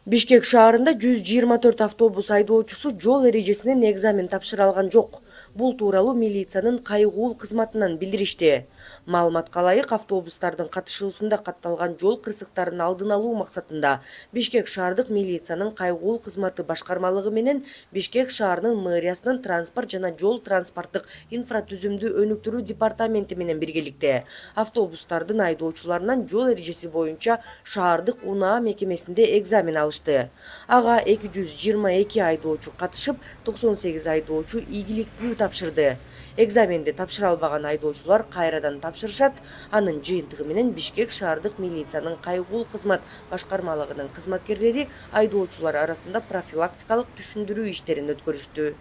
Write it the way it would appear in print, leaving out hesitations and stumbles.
Бишкек шаарында 124 автобус айдоочусу жол эрежесинен экзамен тапшыра алган жок. Бул тууралуу милициянын кайгуул кызматынан билдиришти. Маалыматка ылайык, автобустардын катышуусунда катталган жол кырсыктарын алдын алуу максатында Бишкек шаардык милициянын кайгуул кызматы башкармалыгы менен Бишкек шаарынын мэриясынын транспорт жана жол транспорттук инфратүзүмдү өнүктүрүү департаменти менен биргеликте автобустардын айдоочуларынан жол эрежеси боюнча шаардык УНА мекемесинде экзамен алышты. Ага 222 айдоочу катышып, 98 айдоочу ийгиликтүү тапшырды. Экзаменди тапшыра албаган айдоочулар кайрадан тапшырышат. Анын жыйынтыгы менен Бишкек шаардык милициянын кайгуул кызмат башкармалыгынын кызматкерлери айдоочулар арасында профилактикалык түшүндүрүү иштерин өткөрүштү.